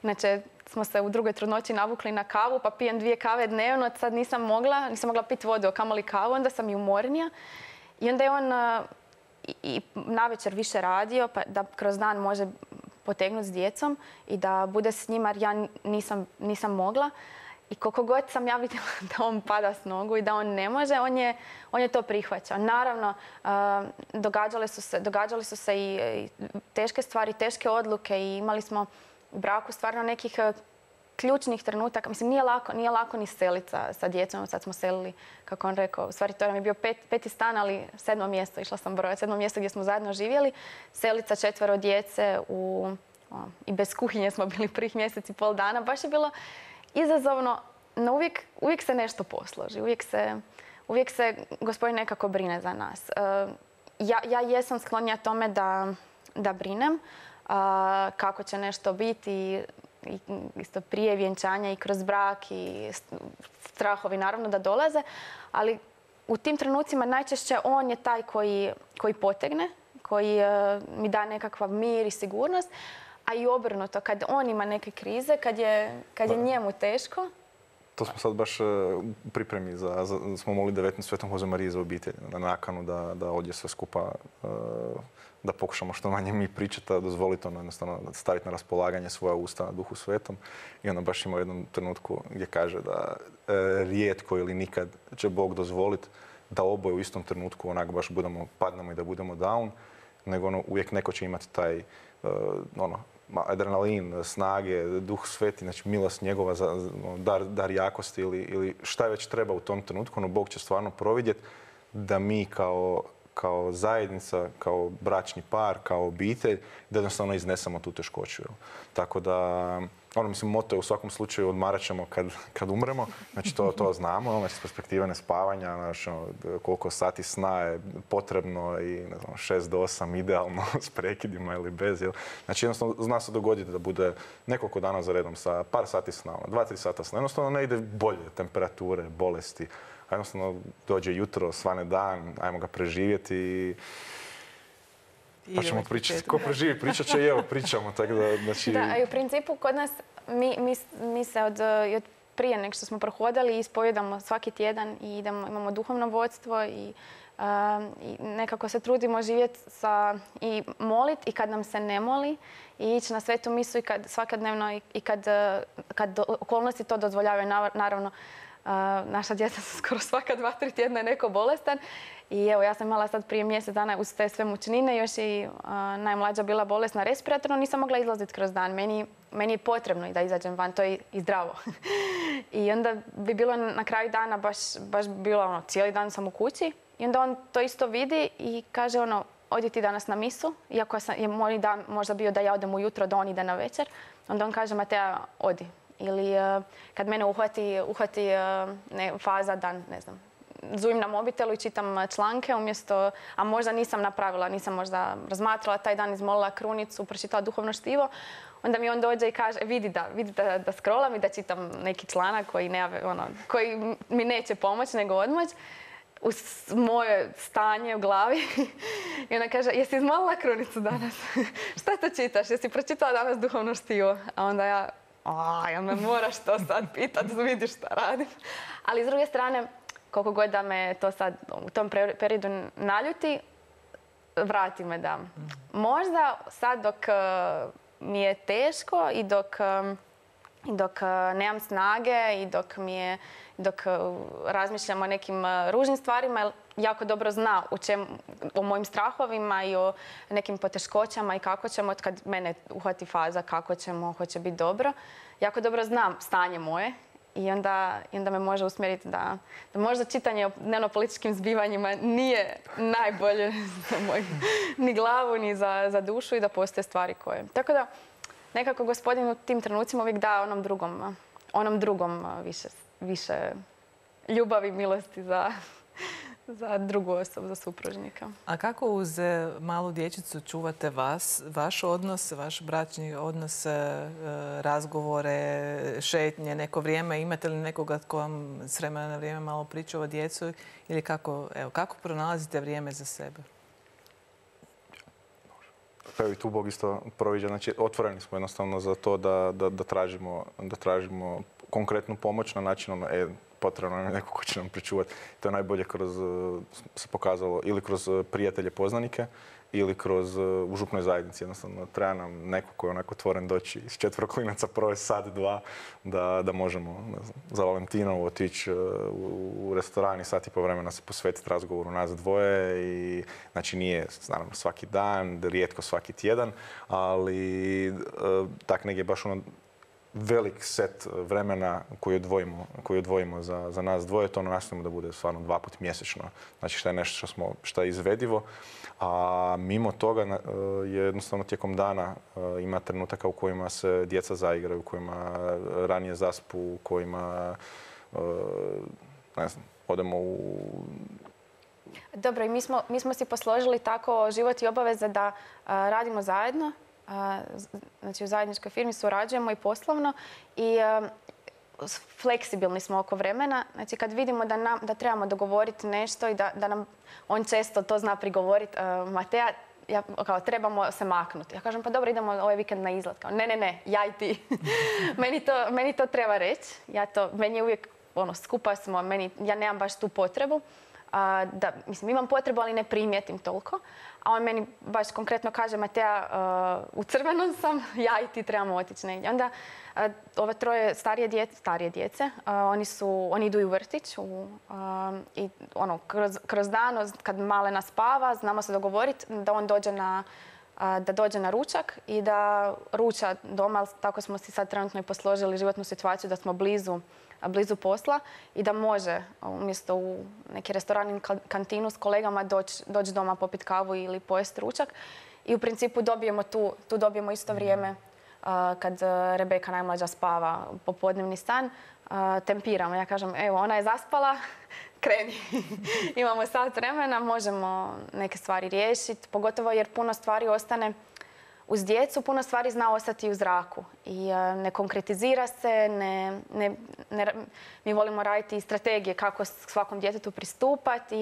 inače smo se u drugoj trudnoći navukli na kavu pa pijem dvije kave dnevno, sad nisam mogla, nisam mogla piti vodu, a kamoli kavu, onda sam i umornija. I onda je on, i, i navečer više radio, pa da kroz dan može potegnuti s djecom i da bude s njima, jer ja nisam, nisam mogla. I koliko god sam ja vidjela da on pada s nogu i da on ne može, on je, on je to prihvaćao. Naravno, uh, događale su se, događale su se i, i teške stvari, teške odluke i imali smo u braku stvarno nekih uh, ključnih trenutaka. Mislim, nije lako, nije lako ni seliti sa, sa djecom. Sad smo selili, kako on rekao, u stvari to nam je bio pet, peti stan, ali sedmo mjesto, išla sam brojati, sedmo mjesto gdje smo zajedno živjeli. Seliti sa četvero djece u, o, i bez kuhinje smo bili prvih mjesec i pol dana. Baš je bilo izazovno, no uvijek, uvijek se nešto posloži. Uvijek se, uvijek se Gospodin nekako brine za nas. Uh, ja, ja jesam sklonja tome da, da brinem uh, kako će nešto biti, i isto prije vjenčanja i kroz brak i strahovi naravno da dolaze, ali u tim trenucima najčešće on je taj koji, koji potegne, koji uh, mi da nekakav mir i sigurnost, a i obrnuto, kad on ima neke krize, kad je, kad je njemu teško.
To smo sad baš u pripremi, za, za, smo molili devetnaest Svetom Hoze Marije za obitelj, na nakanu da, da ovdje sve skupa, da pokušamo što manje mi pričati, da dozvoliti ono jednostavno staviti na raspolaganje svoja usta na Duhu Svetom. I ona baš ima u jednom trenutku gdje kaže da e, rijetko ili nikad će Bog dozvoliti da oboje u istom trenutku onak baš budemo, padnemo i da budemo down, nego ono, uvijek neko će imati taj uh, ono, adrenalin, snage, Duh Sveti, znači milost njegova, za, dar, dar jakosti ili, ili šta već treba u tom trenutku, no Bog će stvarno providjeti da mi kao, kao zajednica, kao bračni par, kao obitelj, da jednostavno iznesemo tu teškoću. Jel? Tako da, ono, mislim, moto je u svakom slučaju odmarat ćemo kad, kad umremo, znači to, to znamo, znači s perspektive nespavanja, znači, ono, koliko sati sna je potrebno i ne znam, šest do osam idealno s prekidima ili bez. Jel? Znači jednostavno zna se dogoditi da bude nekoliko dana za redom sa par sati sna, ono, dva, tri sata sna, jednostavno ne ide bolje, temperature, bolesti, a jednostavno dođe jutro, svane dan, ajmo ga preživjeti i pa ćemo pričati. Ko preživi, pričat će i evo, pričamo. Tako da, znači...
da, a i u principu kod nas, mi, mi, mi se od, od prije nek što smo prohodali ispovijedamo svaki tjedan i idemo, imamo duhovno vodstvo i, uh, i nekako se trudimo živjeti sa, i molit i kad nam se ne moli i ići na svetu misu i kad, svakodnevno i, i kad, kad okolnosti to dozvoljavaju. Naravno, uh, naša djeca su skoro svaka dva, tri tjedna neko bolestan. I evo, ja sam imala sad prije mjesec dana uz te sve mučnine, još i uh, najmlađa bila bolesna respiratorno, nisam mogla izlaziti kroz dan. Meni, meni je potrebno i da izađem van, to je i zdravo. I onda bi bilo na kraju dana baš, baš bilo ono, cijeli dan sam u kući. I onda on to isto vidi i kaže ono, odi ti danas na misu, iako sam, je moj dan možda bio da ja odem ujutro, da on ide na večer. Onda on kaže, Mateja, odi. Ili uh, kad mene uhvati, uhvati uh, ne, faza dan, ne znam, zujim na mobitelu i čitam članke umjesto, a možda nisam napravila, nisam možda razmatrala taj dan, izmolila krunicu, pročitala duhovno štivo, onda mi on dođe i kaže, vidi da, vidi da, da scrollam i da čitam neki članak koji, ne, ono, koji mi neće pomoći nego odmoć uz moje stanje u glavi. I ona kaže, jesi izmolila krunicu danas? Šta to čitaš? Jesi pročitala danas duhovno štivo? A onda ja, a, jel me moraš to sad pitat, vidiš šta radim. Ali s druge strane, koliko god da me to sad u tom periodu naljuti, vrati me da. Možda sad dok uh, mi je teško i dok, um, dok uh, nemam snage i dok, mi je, dok uh, razmišljam o nekim uh, ružnim stvarima, jer jako dobro zna u čem, o mojim strahovima i o nekim poteškoćama i kako ćemo, kad mene uhvati faza, kako ćemo, hoće biti dobro. Jako dobro znam stanje moje. I onda, I onda me može usmjeriti da, da možda čitanje o dnevno-političkim zbivanjima nije najbolje za moju ni glavu, ni za, za dušu i da postoje stvari koje... Tako da nekako Gospodin u tim trenucima uvijek da onom drugom, onom drugom više, više ljubavi, milosti za, za drugu osobu, za supružnika.
A kako uz malu dječicu čuvate vas, vaš odnos, vaš bračni odnos, razgovore, šetnje, neko vrijeme? Imate li nekoga tko vam s vremena na vrijeme malo priča o djecu? Ili kako, evo, kako pronalazite vrijeme za sebe?
Pa i tu Bog isto proviđa. Znači, otvoreni smo jednostavno za to da, da, da, tražimo, da tražimo konkretnu pomoć na način ono, e, potrebno nam je neko ko će nam pričuvati. To je najbolje kroz, se pokazalo, ili kroz prijatelje, poznanike, ili kroz u župnoj zajednici. Jednostavno, treba nam neko koji je onako otvoren doći iz četvero klinaca provesti sat, dva, da, da možemo ne znam, za Valentinovu otići u, u restoran i sat i po vremena se posvetiti razgovoru nas dvoje. I, znači nije naravno svaki dan, rijetko svaki tjedan, ali tak negdje baš ono velik set vremena koji odvojimo, koji odvojimo za, za nas dvoje. To ono nastojimo da bude stvarno dva put mjesečno. Znači što je nešto što, smo, što je izvedivo. A mimo toga je jednostavno tijekom dana ima trenutaka u kojima se djeca zaigraju, u kojima ranije zaspu, u kojima ne znam, odemo u...
Dobro, i mi smo, mi smo si posložili tako život i obaveze da a, radimo zajedno. A, znači u zajedničkoj firmi surađujemo i poslovno i a, fleksibilni smo oko vremena. Znači kad vidimo da, nam, da trebamo dogovoriti nešto i da, da nam on često to zna prigovoriti, uh, Mateja, ja, kao, trebamo se maknuti. Ja kažem, pa dobro, idemo ovaj vikend na izlet. Kao, ne, ne, ne, ja i ti. meni, to, meni to treba reći. Ja to, meni je uvijek, ono, skupa smo, meni, ja nemam baš tu potrebu. Uh, da, mislim, imam potrebu, ali ne primijetim toliko. A on meni baš konkretno kaže, Mateja, uh, u crvenom sam, ja i ti trebamo otići negdje. Onda uh, ove troje starije djece, starije djece uh, oni, su, oni idu i u vrtić. U, uh, I ono, kroz, kroz dan, kad malena spava, znamo se dogovoriti da on dođe na, uh, da dođe na ručak i da ruča doma. Tako smo si sad trenutno i posložili životnu situaciju da smo blizu blizu posla i da može umjesto u neki restoran ili kantinu s kolegama doći doć doma popiti kavu ili pojesti ručak. I u principu dobijemo tu, tu dobijemo isto vrijeme uh, kad Rebeka najmlađa spava popodnevni stan. Uh, tempiramo. Ja kažem, evo, ona je zaspala, kreni. Imamo sat vremena, možemo neke stvari riješiti, pogotovo jer puno stvari ostane uz djecu, puno stvari zna ostati u zraku i uh, ne konkretizira se, ne, ne, ne, mi volimo raditi strategije kako svakom djetetu pristupati,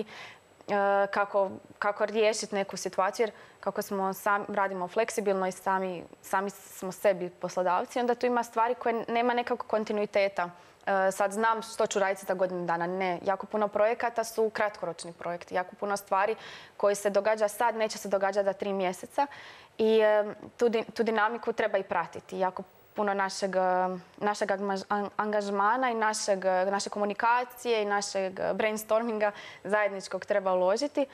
uh, kako, kako riješiti neku situaciju, jer kako smo sami, radimo fleksibilno i sami, sami smo sebi poslodavci, onda tu ima stvari koje nema nekakvog kontinuiteta. Uh, sad znam što ću raditi za godinu dana. Ne, jako puno projekata su kratkoročni projekti, jako puno stvari koji se događa sad, neće se događati za tri mjeseca. I tu, tu dinamiku treba i pratiti. Jako puno našeg, našeg angažmana i našeg, naše komunikacije i našeg brainstorminga zajedničkog treba uložiti.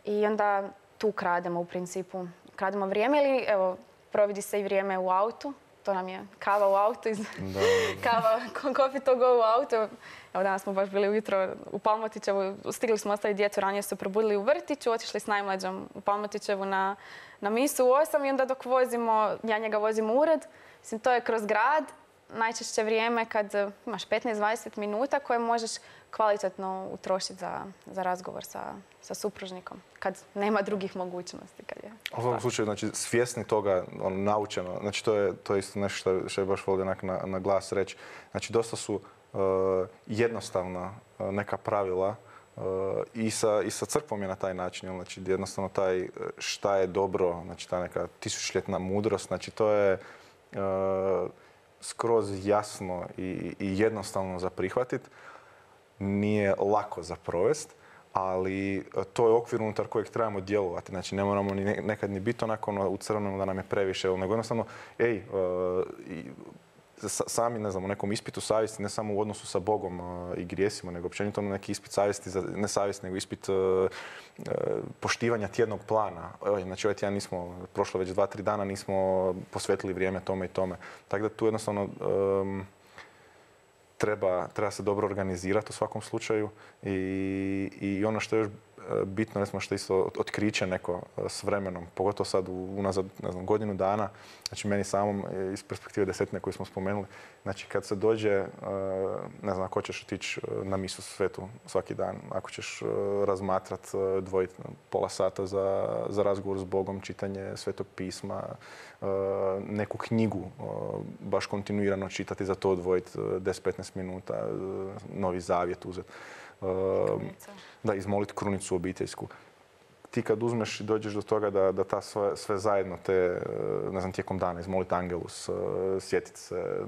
I onda tu krademo u principu. Krademo vrijeme ili evo, providi se i vrijeme u autu. To nam je kava u autu, iz... kava, coffee to go u autu. Evo danas smo baš bili ujutro u Palmotićevu, stigli smo ostaviti djecu, ranije su probudili u vrtiću, otišli s najmlađom u Palmotićevu na, na misu u osam i onda dok vozimo, ja njega vozim u ured. Mislim, to je kroz grad, najčešće vrijeme kad imaš petnaest do dvadeset minuta koje možeš kvalitetno utrošiti za, za razgovor sa, sa supružnikom, kad nema drugih mogućnosti. Kad je
u ovom slučaju, znači, svjesni toga, ono, naučeno, znači to je, to je isto nešto što, što je baš volio na, na glas reći. Znači, dosta su uh, jednostavna uh, neka pravila uh, i, sa, i sa crkvom je na taj način. Znači, jednostavno taj šta je dobro, znači ta neka tisućljetna mudrost, znači to je uh, skroz jasno i, i jednostavno za prihvatiti. Nije lako za provest, ali to je okvir unutar kojeg trebamo djelovati. Znači, ne moramo ni nekad ni biti onako ono, u crvenom da nam je previše, nego jednostavno, ej, uh, i, sami, ne znam, u nekom ispitu savjesti, ne samo u odnosu sa Bogom uh, i grijesima, nego općenito neki ispit savjesti, za, ne savjesti, nego ispit uh, uh, poštivanja tjednog plana. Oj, znači, ovaj tjedan nismo, prošlo već dva, tri dana, nismo posvetili vrijeme tome i tome. Tako da tu jednostavno um, Treba, treba se dobro organizirati u svakom slučaju i, i ono što je još bitno, recimo što je isto otkriće neko s vremenom, pogotovo sad unazad, ne znam, godinu dana, znači meni samom iz perspektive desetine koju smo spomenuli, znači kad se dođe, ne znam, ako ćeš otići na misu svetu svaki dan, ako ćeš razmatrat, dvojiti pola sata za, za razgovor s Bogom, čitanje Svetog pisma, neku knjigu baš kontinuirano čitati, za to odvojiti deset do petnaest minuta, Novi Zavjet uzeti. Da, izmoliti krunicu obiteljsku. Ti kad uzmeš i dođeš do toga da, da ta sve, sve zajedno te, ne znam, tijekom dana, izmoliti Angelus, sjetiti se,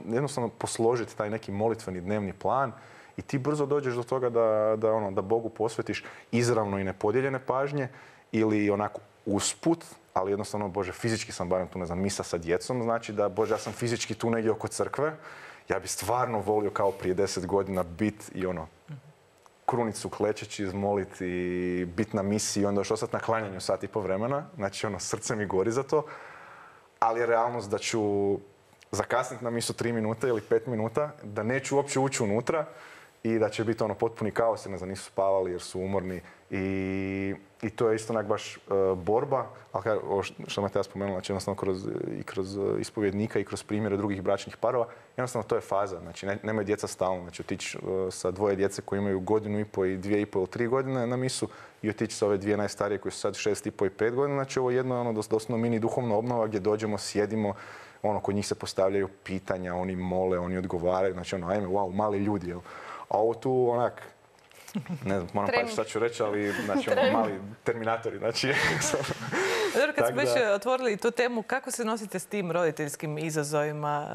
jednostavno posložiti taj neki molitveni dnevni plan i ti brzo dođeš do toga da, da, ono, da Bogu posvetiš izravno i nepodijeljene pažnje ili onako usput, ali jednostavno, Bože, fizički sam barem tu, ne znam, misa sa djecom, znači da, Bože, ja sam fizički tu negdje oko crkve, ja bi stvarno volio kao prije deset godina bit i ono, krunicu klečeći izmoliti i bit na misiji i onda još ostati na klanjanju sat i po vremena, znači ono, srce mi gori za to, ali je realnost da ću zakasniti na misu tri minuta ili pet minuta, da neću uopće ući unutra i da će biti ono potpuni kaos jer ne znam, nisu spavali jer su umorni i, i to je isto onak baš uh, borba, ali kaj, ovo što me ja spomenula, znači jednostavno kroz, i kroz ispovjednika i kroz primjere drugih bračnih parova, jednostavno to je faza, znači ne, nemaju djeca stalno, znači otići uh, sa dvoje djece koji imaju godinu i po i dvije i po ili tri godine na misu i otići sa ove dvije najstarije koji su sad šest i po i pet godina, znači ovo je jedno ono doslovno mini duhovna obnova gdje dođemo, sjedimo, ono, kod njih se postavljaju pitanja, oni mole, oni odgovaraju, znači ono, ajme, wow, mali ljudi, jel? A ovo tu, onak, ne znam, moram paći šta ću reći, ali, znači, ono, mali terminatori, znači...
Dobro, kad smo već otvorili tu temu, kako se nosite s tim roditeljskim izazovima,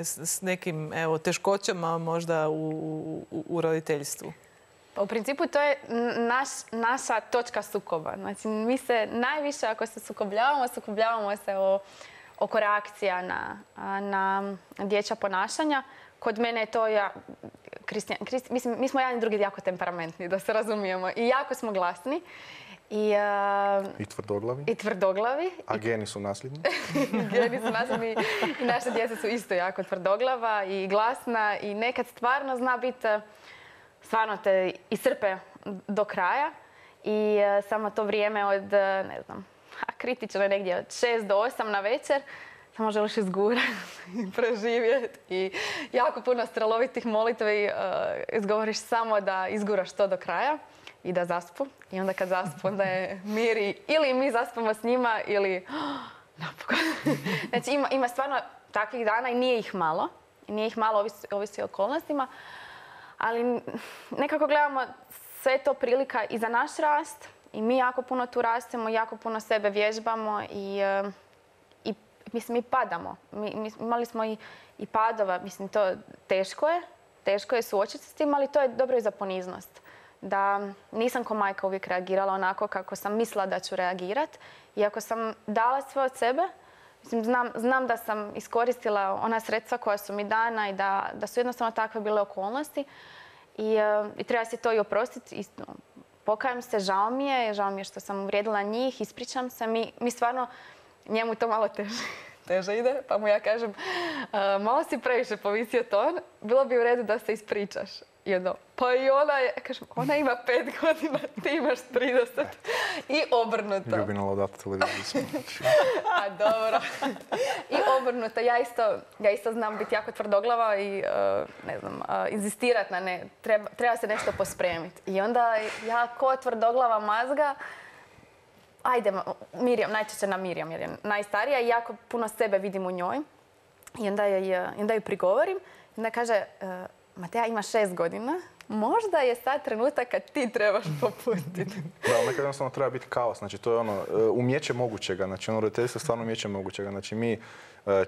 s nekim, evo, teškoćama možda u, u, u roditeljstvu?
Pa u principu to je naš, naša točka sukoba. Znači, mi se najviše, ako se sukobljavamo, sukobljavamo se o oko reakcija na, na dječja ponašanja. Kod mene je to ja, Kristijan, Kristijan, mislim, mi smo jedan i drugi jako temperamentni, da se razumijemo. I jako smo glasni. I, uh,
I tvrdoglavi.
I tvrdoglavi.
A geni su nasljedni?
Geni su nasljedni i naše djeca su isto jako tvrdoglava i glasna. I nekad stvarno zna biti, stvarno te iscrpe do kraja. I uh, samo to vrijeme od, ne znam, kritično je negdje od šest do osam na večer, samo želiš izgurati i preživjeti i jako puno strelovitih molitvi uh, izgovoriš samo da izguraš to do kraja i da zaspu. I onda kad zaspu, onda je mir i ili mi zaspamo s njima ili oh, napokon. Znači ima, ima stvarno takvih dana i nije ih malo. Nije ih malo, ovisi, ovisi o okolnostima. Ali nekako gledamo sve to prilika i za naš rast. I mi jako puno tu rastemo, jako puno sebe vježbamo i, i mislim, mi padamo. Mi, mi, imali smo i, i padova, mislim, to teško je. Teško je suočiti s tim, ali to je dobro i za poniznost. Da nisam ko majka uvijek reagirala onako kako sam mislila da ću reagirati. I ako sam dala sve od sebe, mislim, znam, znam da sam iskoristila ona sredstva koja su mi dana i da, da su jednostavno takve bile okolnosti. I, i treba se to i oprostiti. Pokajem se, žao mi je, žao mi je što sam uvrijedila njih, ispričam se. Mi, mi stvarno, njemu to malo teže, teže ide, pa mu ja kažem, uh, malo si previše povisio ton, bilo bi u redu da se ispričaš. I onda, pa i ona je, kažem, ona ima pet godina, ti imaš trideset. I obrnuto.
Ljubina Laudata televiziju.
A dobro. I obrnuto. Ja isto, ja isto znam biti jako tvrdoglava i, uh, ne znam, uh, inzistirat na ne. Treba, treba se nešto pospremiti. I onda ja ko tvrdoglava mazga, ajde, Mirjam, najčešće na Mirjam jer je najstarija i jako puno sebe vidim u njoj. I onda je, onda ju prigovorim. I onda kaže, uh, Mateja ima šest godina, možda je sad trenutak kad ti trebaš popustiti.
Da, ali nekad jednostavno treba biti kaos. Znači, to je ono, umjeće mogućega. Znači, ono, roditeljstvo je stvarno umjeće mogućega. Znači, mi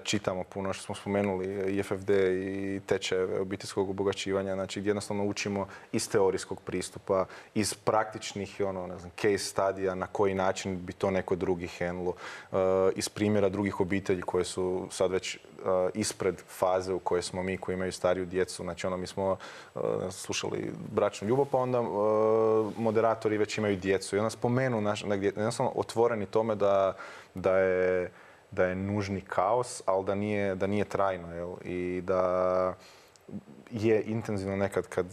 čitamo puno, što smo spomenuli, i F F D i tečajeve obiteljskog obogaćivanja, znači gdje jednostavno učimo iz teorijskog pristupa, iz praktičnih, ono, ne znam, case studija, na koji način bi to neko drugi handlo, uh, iz primjera drugih obitelji koje su sad već uh, ispred faze u kojoj smo mi, koji imaju stariju djecu. Znači, ono, mi smo uh, slušali bračnu ljubav, pa onda uh, moderatori već imaju djecu i onda spomenu naš, negdje, jednostavno otvoreni tome da, da je da je nužni kaos, ali da nije, da nije trajno. Jel? I da je intenzivno nekad kad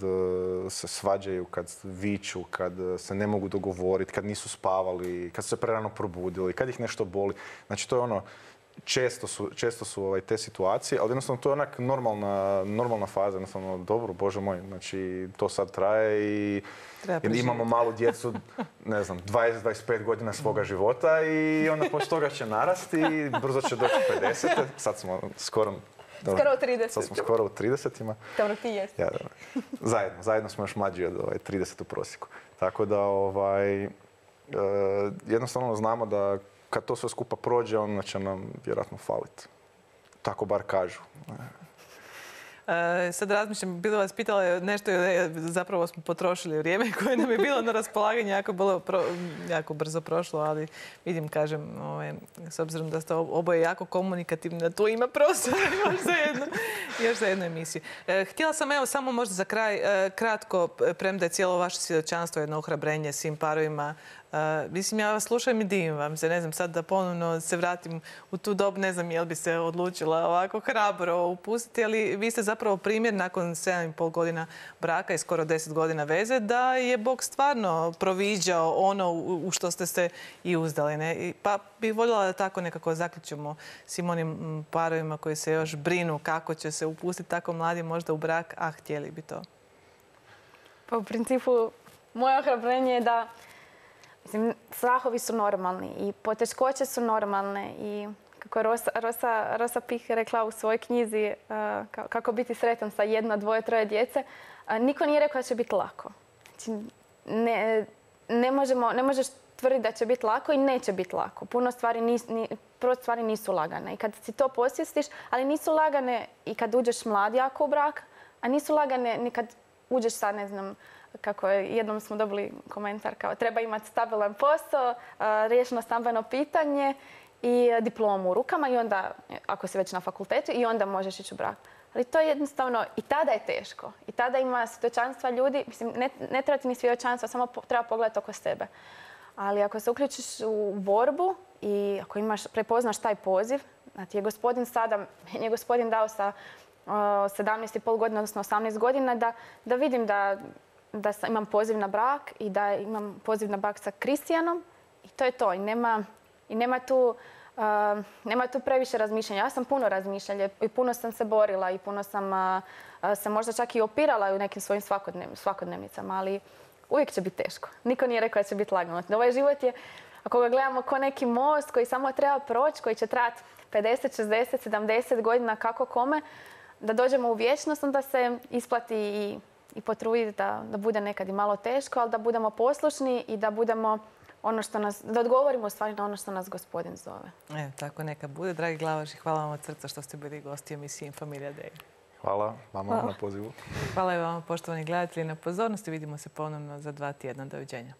se svađaju, kad viču, kad se ne mogu dogovoriti, kad nisu spavali, kad su se prerano probudili, kad ih nešto boli. Znači to je ono, često su, često su ovaj, te situacije, ali jednostavno to je onak normalna, normalna faza. Jednostavno, dobro, Bože moj, znači to sad traje i imamo malu djecu, ne znam, dvadeset do dvadeset pet godina svoga života i onda poslije toga će narasti i brzo će doći pedeset. Sad smo skoro... Dobro,
skoro u trideset.
Sad smo skoro u tridesetima.
Dobro, ti jesi.
Ja, zajedno, zajedno smo još mlađi od ovaj, trideset u prosjeku. Tako da ovaj, e, jednostavno znamo da kad to sve skupa prođe, onda će nam vjerojatno faliti. Tako bar kažu.
E, sad razmišljam, bilo vas pitala nešto, e, zapravo smo potrošili vrijeme koje nam je bilo na raspolaganju, jako, bilo pro, jako brzo prošlo, ali vidim, kažem, ovaj, s obzirom da ste oboje jako komunikativni, da tu ima prostora još za jednu, još za jednu emisiju. E, htjela sam, evo, samo možda za kraj, e, kratko, premda je cijelo vaše svjedočanstvo jedno ohrabrenje svim parovima. Uh, mislim, ja vas slušam i divim vam se. Ne znam, sad da ponovno se vratim u tu dobu, ne znam jel bi se odlučila ovako hrabro upustiti, ali vi ste zapravo primjer nakon sedam i pol godina braka i skoro deset godina veze da je Bog stvarno proviđao ono u što ste se i uzdali. Ne? Pa bih voljela da tako nekako zaključimo svim onim parovima koji se još brinu kako će se upustiti tako mladi možda u brak, a htjeli bi to.
Pa u principu, moje ohrabrenje je da mislim, strahovi su normalni i poteškoće su normalne i kako je Rosa, Rosa, Rosa Pih rekla u svojoj knjizi uh, kako biti sretan sa jedno, dvoje, troje djece, uh, niko nije rekao da će biti lako. Znači, ne, ne, možemo, ne možeš tvrditi da će biti lako i neće biti lako. Puno stvari, nis, ni, prvo stvari nisu lagane i kad si to posvjestiš, ali nisu lagane i kad uđeš mlad jako u brak, a nisu lagane ni kad uđeš sa, ne znam, kako je, jednom smo dobili komentar kao treba imati stabilan posao, riješeno stambeno pitanje i diplomu u rukama i onda, ako si već na fakultetu, i onda možeš ići u brak. Ali to je jednostavno, i tada je teško. I tada ima svjedočanstva ljudi, mislim, ne, ne treba ti ni svjedočanstva, samo po, treba pogledati oko sebe. Ali ako se uključiš u borbu i ako imaš, prepoznaš taj poziv, da ti je gospodin sada, meni je gospodin dao sa uh, sedamnaest i pol godina, odnosno osamnaest godina, da, da vidim da da imam poziv na brak i da imam poziv na brak sa Kristijanom i to je to. I nema, i nema, tu, uh, nema tu previše razmišljanja. Ja sam puno razmišljala i puno sam se borila i puno sam uh, se možda čak i opirala u nekim svojim svakodnev, svakodnevnicama, ali uvijek će biti teško. Niko nije rekao da će biti lagano. Ovaj život je, ako ga gledamo kao neki most koji samo treba proći, koji će trajati pedeset, šezdeset, sedamdeset godina kako kome, da dođemo u vječnost, onda se isplati i i potruditi da, da bude nekad i malo teško, ali da budemo poslušni i da budemo ono što nas, da odgovorimo u stvari na ono što nas Gospodin zove.
E, tako neka bude. Dragi Glavaš, hvala vam od srca što ste bili gosti emisije Infamilija Day.
Hvala vama na pozivu.
Hvala i vama, poštovani gledatelji, na pozornosti. Vidimo se ponovno za dva tjedna. Doviđenja.